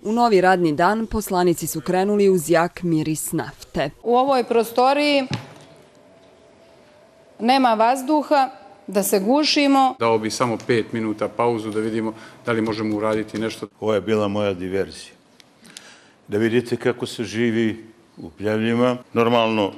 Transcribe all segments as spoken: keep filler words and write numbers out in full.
U novi radni dan poslanici su krenuli uz jak miris nafte. U ovoj prostoriji nema vazduha, da se gušimo. Dao bi samo pet minuta pauzu da vidimo da li možemo uraditi nešto. Ovo je bila moja diverzija. Da vidite kako se živi u Pljevljima. Normalno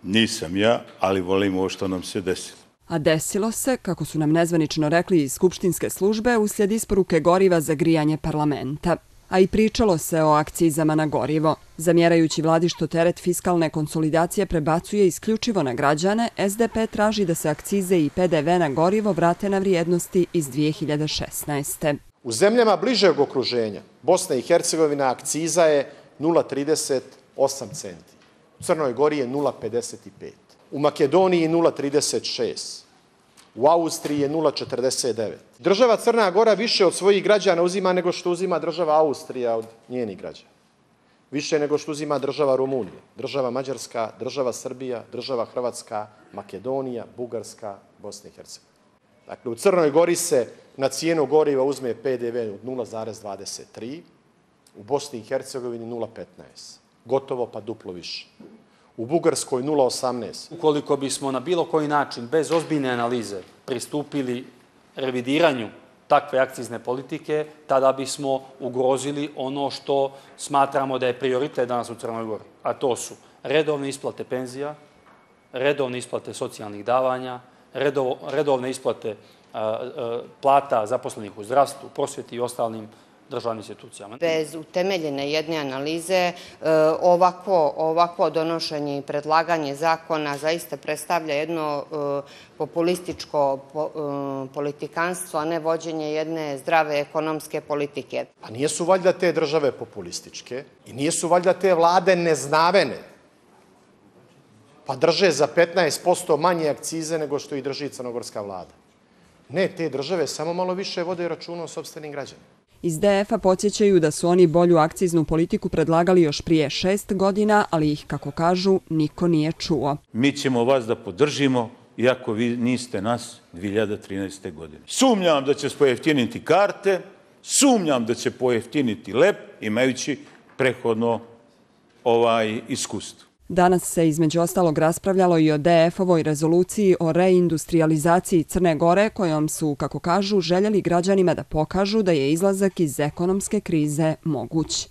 nisam ja, ali volim ovo što nam se desilo. A desilo se, kako su nam nezvanično rekli iz skupštinske službe, uslijed isporuke goriva za grijanje parlamenta. A i pričalo se o akcizama na gorivo. Zamjerajući vladi što teret fiskalne konsolidacije prebacuje isključivo na građane, S D P traži da se akcize i P D V na gorivo vrate na vrijednosti iz dvije hiljade šesnaeste. U zemljama bližeg okruženja Bosna i Hercegovina akciza je nula zarez trideset osam centi. U Crnoj Gori je nula zarez pedeset pet. U Makedoniji nula zarez trideset šest. U Austriji je nula zarez četrdeset devet. Država Crna Gora više od svojih građana uzima nego što uzima država Austrija od njenih građana. Više nego što uzima država Rumunija, država Mađarska, država Srbija, država Hrvatska, Makedonija, Bugarska, Bosna i Hercegovina. Dakle, u Crnoj Gori se na cijenu goriva uzme P D V od nula zarez dvadeset tri, u Bosni i Hercegovini nula zarez petnaest. Gotovo pa duplo više. U Bugarskoj nula zarez osamnaest. Ukoliko bismo na bilo koji način, bez ozbiljne analize, pristupili revidiranju takve akcizne politike, tada bismo ugrozili ono što smatramo da je prioritet danas u Crnoj Gori. A to su redovne isplate penzija, redovne isplate socijalnih davanja, redovne isplate plata zaposlenih u zdravstvu, prosvjeti i ostalim državnim institucijama. Bez utemeljene jedne analize ovakvo, ovakvo donošenje i predlaganje zakona zaista predstavlja jedno populističko politikanstvo, a ne vođenje jedne zdrave ekonomske politike. Pa nijesu valjda te države populističke i nijesu valjda te vlade neznavene, pa drže za petnaest posto manje akcize nego što i drži crnogorska vlada. Ne, te države samo malo više vode računa o sopstvenim građanima. Iz D F-a podsjećaju da su oni bolju akciznu politiku predlagali još prije šest godina, ali ih, kako kažu, niko nije čuo. Mi ćemo vas da podržimo, iako vi niste nas dvije hiljade trinaeste. godine. Sumnjam da će pojeftiniti karte, sumnjam da će pojeftiniti lep, imajući prehodno ovaj iskustvo. Danas se između ostalog raspravljalo i o D F-ovoj rezoluciji o reindustrializaciji Crne Gore, kojom su, kako kažu, željeli građanima da pokažu da je izlazak iz ekonomske krize moguć.